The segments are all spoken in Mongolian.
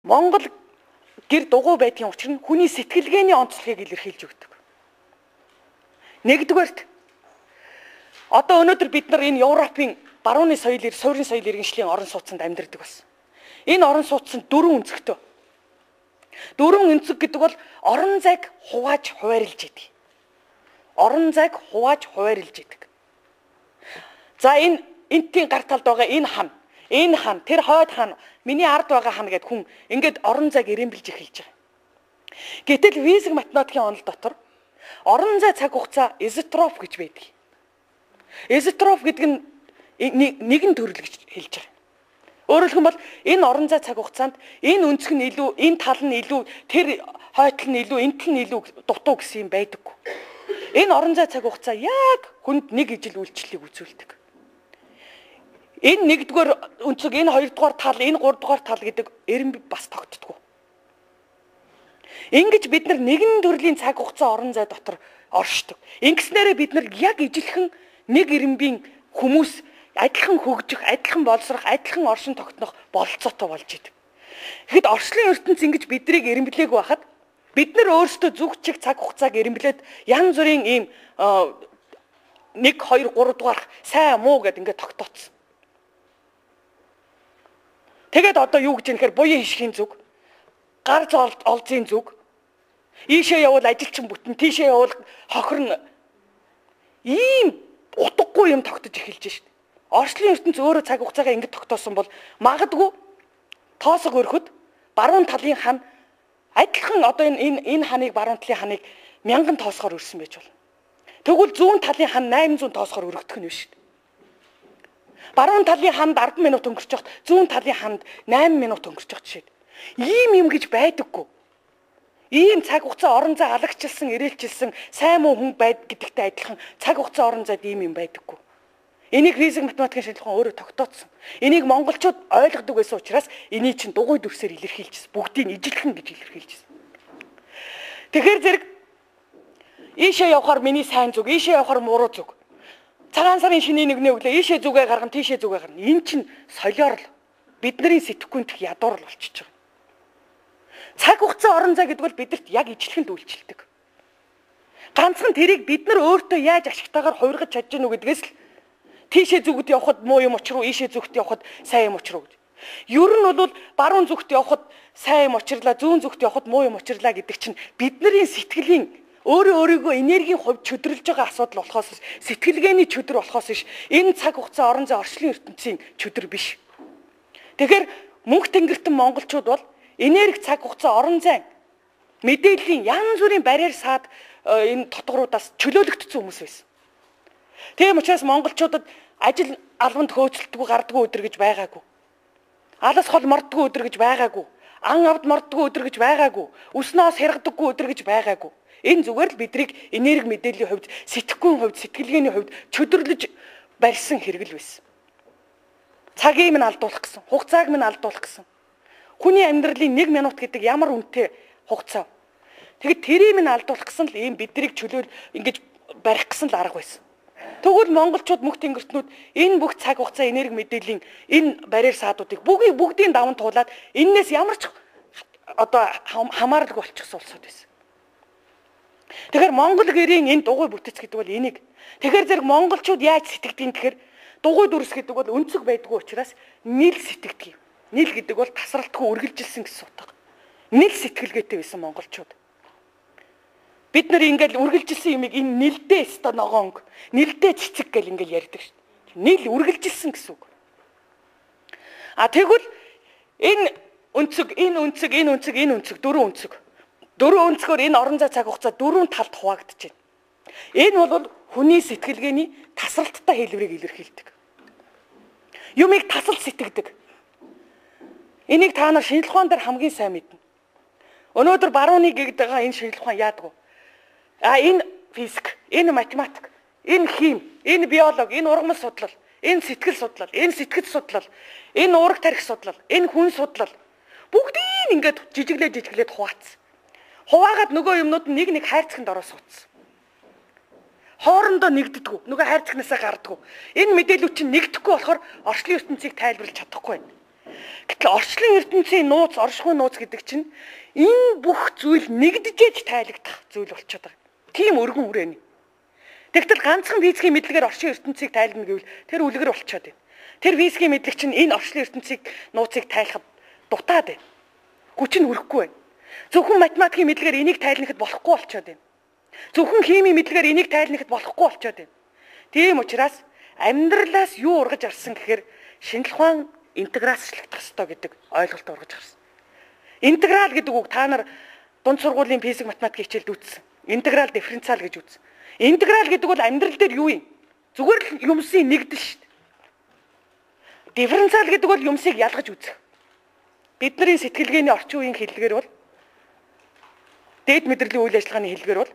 Монгол гэр дугуй байдгийн учир нь хүний сэтгэлгээний онцлогийг илэрхийлж өгдөг. Нэгдүгээрт одоо өнөөдөр бид нар энэ Европын барууны суурин соёл иргэншлийн орон сууцнд амьдардаг бас. Энэ орон сууцнд дөрвөн өнцгтэй. Дөрвөн өнцөг гэдэг бол орон зайг хувааж хуваарлж идэг. Орон зайг хувааж хуваарлж идэг. За энэ энтийн гар талд байгаа энэ хан, тэр хойд хан, миний ард байгаа хан гэд хүн ингээд орон зайг ирэмбэлж эхэлж байгаа. Гэтэл физик математикийн онол дотор орон зай цаг хугацаа изотроп гэж байдаг. Изотроп гэдэг нь нэгэн төрөл гэж хэлж байгаа. Өөрөөр хэлбэл энэ орон зай цаг хугацаанд энэ өнцг нь илүү, энэ тал нь илүү, тэр хойдол нь илүү, энтэл нь илүү дутуу гэсэн юм байдаггүй. Энэ орон зай цаг хугацаа яг хүнд нэг ижил үйлчлэлийг үзүүлдэг. Энэ нэгдүгээр өнцөг, энэ хоёрдугаар тал, энэ гуравдугаар тал гэдэг эрен бас тогтдоггүй. Ингэж бид нар нэгэн төрлийн цаг хугацаа орон зай дотор оршдог. Ингэснээрээ бид нар яг ижилхэн нэг эренбийн хүмүүс адилхан хөгжих, адилхан боловсрох, адилхан оршин тогтнох бололцоотой болж идэг. Тэгэхэд орчлын ертөнц ингэж биднийг эренблээг байхад бид нар өөрсдөө зүг чиг цаг хугацааг эренблээд янз бүрийн ийм 1 2 3 дугаар сайн муу гэд ингээд тогтооцсон. Тэгээд одоо юу гэж нэхэр буян хишхийн зүг, гар олзын зүг, ийшээ явал ажилчин бүтэн, тийшээ явал хохирно. Ийм утгагүй юм тогтож эхэлж шít. Орчлын ертөнц өөрөө цаг хугацаагаа ингэж тогтоосон бол магадгүй тоосго өрхөд баруун талын хан адилхан одоо энэ ханыг баруун талын ханыг 1000 тоосгоор өрсөн байж болно. Тэгвэл зүүн талын хан 800 тоосгоор өргөдөх нь биш. Баруун талын ханд 10 минут өнгөрч явахад зүүн талын ханд 8 минут өнгөрч явах жишээ. Ийм юм гэж байдаггүй. Ийм цаг хугацаа орон зай алагчилсан, ирээлчилсэн, сайн муу хүн байд гэдэгтэй адилхан цаг хугацаа орон зайд ийм юм байдаггүй. Энийг физик математикийн шинжилгээ өөрөө тогтооцсон. Энийг монголчууд ойлгодог байсан учраас энийг чинь дугуй дүрсээр илэрхийлжсэн. Бүгдийг ижилхэн гэж илэрхийлжсэн. Тэгэхээр зэрэг ийшээ явахаар миний сайн зүг, ийшээ явахаар муруу зүг. Цагаан сарын шинийн нэгнээ өглөө ийшээ зүгээ гаргана, тийшээ зүгээ гаргана. Энэ чинь солиор л бидний сэтгэхүйнх ядуур л болчихж байгаа. Цаг хугацаа орон зай гэдэг бол бидэрт яг ижилхэнд үйлчилдэг. Ганцхан тэрийг бид нар өөртөө яаж ашигтайгаар хувиргаж чадж гэнэ үү гэдгээс л тийшээ зүгт явхад муу юм учруу, ийшээ зүгт явхад сайн юм учруу гэж. Ер нь бол баруун зүгт явхад сайн юм учрлаа, зүүн зүгт явхад муу юм учрлаа гэдэг чинь бидний сэтгэлийн өөрийгөө энергийн хувьд чөдөрлж байгаа асуудал болохоос сэтгэлгээний чөдөр болохоос биш. Энэ цаг хугацаа орон зай орчлын ертөнцийн чөдөр биш. Тэгэхээр мөнх тэнгэртэн монголчууд бол энерги цаг хугацаа орон зай мэдээллийн янз бүрийн барьер саад энэ дотгоруудаас чөлөөлөгдсөн хүмүүс байсан. Тийм учраас монголчуудад ажил албанд хөөцөлдөггүй гардаггүй өдөр гэж байгаагүй. Алас хол морддоггүй өдөр гэж байгаагүй. Ан авд морддоггүй өдөр гэж байгаагүй. Өснөөс хэрэгдэггүй өдөр гэж байгаагүй. Энэ зүгээр л бидрийг энерги мэдээллийн хувьд, сэтгэхүйн хувьд, сэтгэлгээний хувьд чөдөрлөж барьсан хэрэгэл байсан. Цагийг минь алдуулах гэсэн, хугацааг минь алдуулах гэсэн. Хүний амьдралын 1 минут гэдэг ямар үнэтэй хугацаа. Тэгэд тэрийг минь алдуулах гэсэн л ийм бидрийг чөлөөл ингэж барих гэсэн л арга байсан. Тэгвэл монголчууд мөнх тэнгэртнүүд энэ бүх цаг хугацаа энерги мэдээллийн энэ барьер саадуудыг бүгдийн даван туулаад энээс ямар ч одоо хамааралгүй болчихсон улсууд байсан. Тэгэхээр монгол гэрийн энэ дугуй бүтэц гэдэг бол энийг. Тэгэхээр зэрэг монголчууд яаж сэтгэдэг гэхээр дугуй дүрс гэдэг бол өнцөг байдгүй учраас нийл сэтгэдэг юм. Нийл гэдэг бол тасралтгүй үргэлжилсэн гэсэн утга. Нийл сэтгэлгээтэй байсан монголчууд. Бид нар ингээл үргэлжилсэн юмыг энэ нэлдээ өстө ногоонг, нэлдээ цэцэг гэл ингээл ярьдаг шүү дээ. Нийл үргэлжилсэн гэсэн үг. Тэгвэл энэ өнцөг, дөрвөн өнцөг. Дөрвөн өнцгөр энэ орон зай цаг хугацаа дөрвөн талд хуваагдаж байна. Энэ бол хүний сэтгэлгээний тасралттай хэлбэрийг илэрхийлдэг. Юмыг тасалж сэтгэдэг. Энийг та нар шинжлэх ухаан дээр хамгийн сайн мэднэ. Өнөөдөр барууны гэгд байгаа энэ шинжлэх ухаан яадаг вэ? Энэ физик, энэ математик, энэ хим, энэ биологи, энэ ургамал судлал, энэ сэтгэл судлал, энэ сэтгэц судлал, энэ уурах тарих судлал, энэ хүн судлал бүгдийг ингээд жижиглээд хуваацсан. Хуваагаад нөгөө юмнууд нь нэг хайрцагт ороо суудсан. Хоорондоо нэгддэггүй, нөгөө хайрцагнасаа гардаггүй. Энэ мэдээлүүд чинь нэгдэхгүй болохоор орчлын ертөнцийг тайлбарлаж чадахгүй байна. Гэтэл орчлон ертөнцийн нууц, оршихуй нууц гэдэг чинь энэ бүх зүйл нэгдэжээж тайлагдах зүйл болчиход байгаа. Тийм өргөн хүрээний. Тэгтэл ганцхан физикийн мэдлэгээр орчин ертөнцийг тайлна гэвэл тэр үлгэр болчиход байна. Тэр физикийн мэдлэг чинь энэ орчлон ертөнцийг нууцыг тайлахад дутаад байна. Хүч нь хүрэхгүй байна. Зөвхөн математикийн мэдлэгээр энийг тайлнахад болохгүй болчиход байна. Зөвхөн химийн мэдлэгээр энийг тайлнахад болохгүй болчиход байна. Тийм учраас амьдралаас юу ургаж арсан гэхээр шинжлэх ухаан интеграцчлагдах ёстой гэдэг ойлголт ургаж гарсан. Интеграл гэдэг үг та нар дунд сургуулийн физик математик хичээлд үзсэн. Интеграл дифференциал гэж үзсэн. Интеграл гэдэг бол амьдрал дээр юу юм? Зүгээр л юмсын нэгдэл шүү дээ. Дифференциал гэдэг бол юмсыг ялгаж үзэх. Бидний сэтгэлгээний орчин үеийн хэллэгээр бол дээд мэдрэлийн үйл ажиллагааны хэллэгээр бол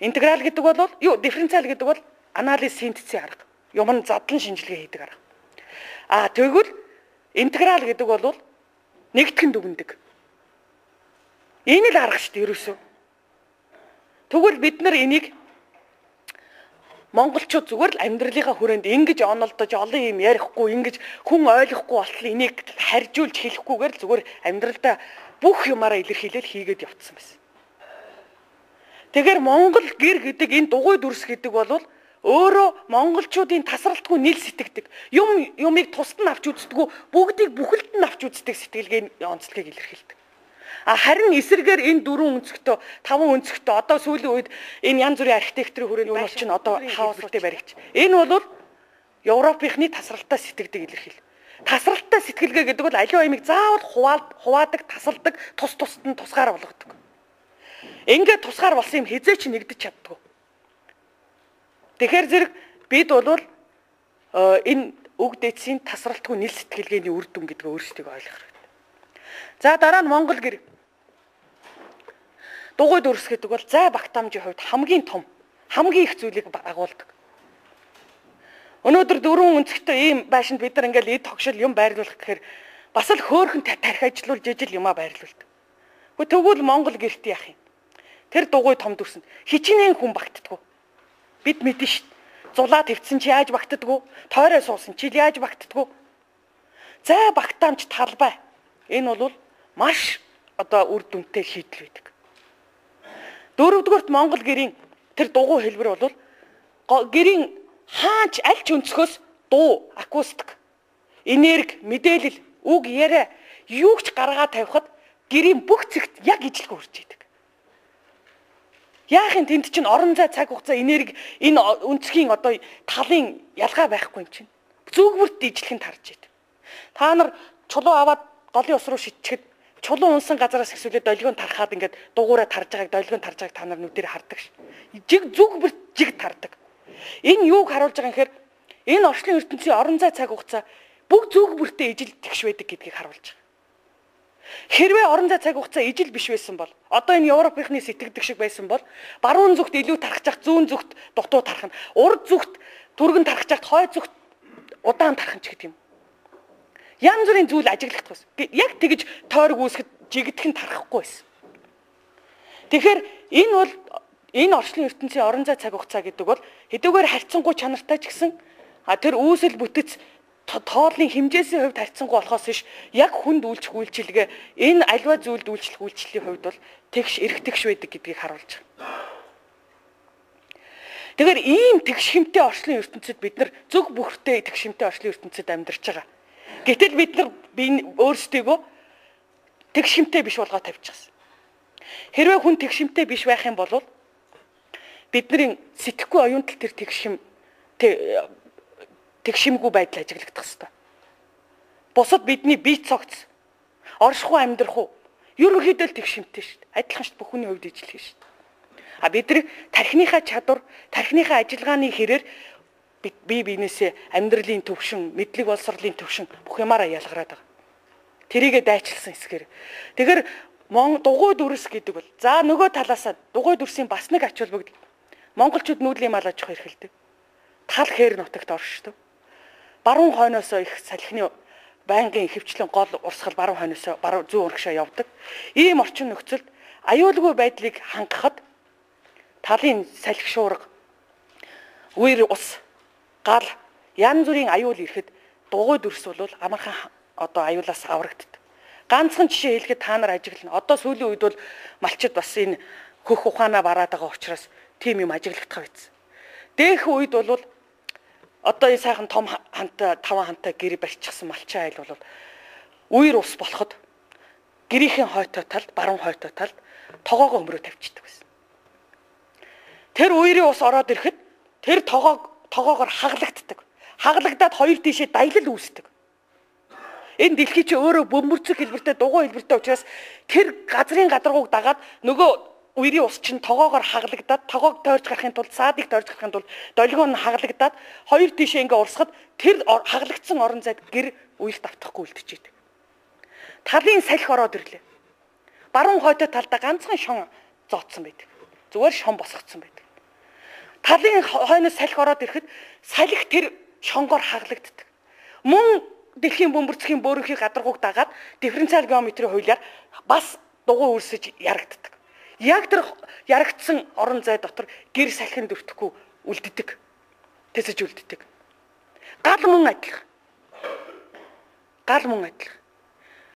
интеграл гэдэг бол дифференциал гэдэг бол анализ синтезийн арга. Юм нь задлан шинжилгээ хийдэг арга. Тэгвэл интеграл гэдэг бол нэгтгэн дүгндэг. Энэ л арга шүү дээ ерөөсөө. Тэгвэл бид нар энийг монголчууд зүгээр л амьдралынхаа хүрээнд ингэж онолдож олон юм ярихгүй, ингэж хүн ойлгохгүй болтол энийг харьжуулж хэлэхгүйгээр зүгээр амьдралдаа бүх юмараа илэрхийлэл хийгээд явцсан байсан. Тэгэхээр монгол гэр гэдэг энэ дугуй дүрс гэдэг бол өөрөө монголчуудын тасралтгүй нийл сэтгэдэг. Юмыг тусад нь авч үздэггүй, бүгдийг бүхэлд нь авч үздэг сэтгэлгээний онцлогийг илэрхийлдэг. Харин эсрэгээр энэ 4 өнцгтөө 5 өнцгтөө одоо сүүлийн үед энэ янз бүрийн архитектурын хүрээний үйл чинь одоо хаослтыг баригч. Энэ бол Европынхны тасралтаа сэтгэдэг илэрхийл. Тасралтаа сэтгэлгээ гэдэг бол аливаа юмыг заавал хуваадаг, тасалдаг, тусад нь тусгаар болгодог. Ингээд тусгаар болсон юм хизээч нэгдэж чаддгүй. Тэгэхээр зэрэг бид бол энэ үг дээдсийн тасралтгүй нийл сэтгэлгээний үр дүн гэдгээ өөрсдөө ойлгох хэрэгтэй. За дараа нь монгол гэр дугуй дүрс гэдэг бол зай багтаамжийн хувьд хамгийн том, хамгийн их зүйлийг агуулдаг. Өнөөдөр 4 өнцгтэй ийм байшинд бид нар ингээл эд тогшил юм байрлуулах гэхээр бас л хөөхөн тарих ажиллуул жижиг юмаа байрлуулдаг. Тэгвэл монгол гэрт яах юм? Тэр дугуй том дүрсэнд хичнээн хүн багтдаггүй. Бид мэдэн шүү дээ. Зулаа твцсэн чи яаж багтдаггүй? Тойроо суусан чи яаж багтдаггүй? Зай багтаамж талбай. Энэ бол маш үр дүнтэй шийдэл байдаг. Дөрөвдүгürt монгол гэрийн тэр дугуй хэлбэр бол гэрийн хаач аль ч өнцгөөс дуу, акустик, энерги, мэдээлэл, үг яриа юу ч гаргаад тавихад гэрийн бүх зэгт яг ижлэг үрж идэг. Яахын тэнд чинь орон зай цаг хугацаа энерги энэ өнцгийн талын ялгаа байхгүй юм чинь. Зүгвэрт ижлэхэн тарж идэг. Та нар чулуу аваад голын ус руу шидчихэд чулуу унсан газараас хэсвэлээ долгион тархаад ингээд дугуураа тарж байгааг долгион тарж байгааг та нар нүдээр хардаг ш. Жиг зүгвэрт жиг тардаг. Энэ юуг харуулж байгаа юм гэхээр энэ орчлон ертөнцийн орон зай цаг хугацаа бүх зүгвэртээ ижил тэгш байдаг гэдгийг харуулж байгаа. Хэрвээ орон зай цаг хугацаа ижил биш байсан бол одоо энэ Европынхны сэтгэдэг шиг байсан бол баруун зүгт илүү тархаж ах, зүүн зүгт дутуу тархна. Урд зүгт түргэн тархаж ах, хой зүгт удаан тархна ч гэдэг юм. Янз бүрийн зүйл ажиглагдах байсан. Яг тэгж тойрог үүсгэд жигдэх нь тарахгүй байсан. Тэгэхээр энэ бол энэ орчлон ертөнцийн орон зай цаг хугацаа гэдэг бол хэдүүгээр харьцангуй чанартай ч гэсэн тэр үүсэл бүтэц тооллын хэмжээсийн хувьд харьцангуй болохоос биш яг хүнд үйлчлэх үйлчилгээ энэ альва зүйлд үйлчлэх үйлчлэлийн хувьд бол тэгш эрх тэгш байдаг гэдгийг харуулж байгаа. Тэгэхээр ийм тэгш хэмтэй орчлон ертөнцид бид нар зөв бүхтэй тэгш хэмтэй орчлон ертөнцид амьдарч байгаа. Гэтэл бид нар өөрсдийгөө тэгш хэмтэй биш болгоод тавьчихсан. Хэрвээ хүн тэгш хэмтэй биш байх юм бол бидний сэтгэхгүй оюунтал тэр тэгшимгүй байдал ажиглагдах хэвээр. Бусад бидний бие цогц, оршихуй амьдрах уу? Ерөнхийдөө л тэгшимтэй шүү дээ. Адилхан шүү дээ бүхний хувьд ижлэх шүү дээ. Бидний тархиныхаа чадвар, тархиныхаа ажиллагааны хэрээр бие биенээсээ амьдралын төвшин, мэдлэг боловсролын төвшин бүх юмараа ялгараад байгаа. Тэрийгэ дайчилсан хэсгээр. Тэгэхээр дугуй дүрс гэдэг бол за нөгөө талаасаа дугуй дүрсийн бас нэг ач холбогдол. Монголчууд нүүдлийн мал аж ахуй эрхэлдэг. Тал хээр нутагт оршдог. Баруун хойноосоо их салхины байнгын ихэвчлэн гол урсгал баруун хойноосоо баруун зүүн урагшаа явдаг. Ийм орчин нөхцөлд аюулгүй байдлыг хангахад талын салхи шуурга, үер ус, гал янз бүрийн аюул ирэхэд дугуй дүрс бол амархан одоо аюулаас аврагддаг. Ганцхан жишээ хэлэхэд та нар ажиглана. Одоо сүүлийн үед бол малчид бас энэ хөх ухаанаа бараад байгаа учраас тийм юм ажиглагдах байсан. Дэх үед бол одоо энэ сайхан том хантай 5 хантай гэр барьчихсан малчин айл бол үер ус болоход гэрийн хойтой талд, баруун хойтой талд тогоогоо өмрөө тавьчихдаг байсан. Тэр үерийн ус ороод ирэхэд тэр тогоогоор хаглагддаг. Хаглагдаад хоёр тишээ даялал үүсдэг. Энэ дэлхий чи өөрөө бөмбөрцөг хэлбэртэй, дугуй хэлбэртэй учраас тэр газрын гадаргууг дагаад нөгөө үерийн ус чинь тогоогоор хаглагдаад, тогоог тойрч гарахын тулд, саадыг тойрч гарахын тулд долгион нь хаглагдаад хоёр тишээ ингээ урсгад тэр хаглагдсан орон зайд гэр үерт автахгүй үлдчихэйдэг. Талын салхи ороод ирлээ. Баруун хойтой талдаа ганцхан шон зооцсон байдаг. Зүгээр шон босгоцсон байдаг. Талын хойноос салхи ороод ирэхэд салхи тэр шонгоор хаглагддаг. Мөн дэлхийн бөмбөрцгийн бөөрийнхийг гадаргууг дагаад дифференциал геометрийн хуулиар бас дугуй үрсэж ярагддаг. Яг тэр ярагдсан орон зай дотор гэр салхинд өртөхгүй үлддэг. Тэсэж үлддэг. Гал мөн адилхан.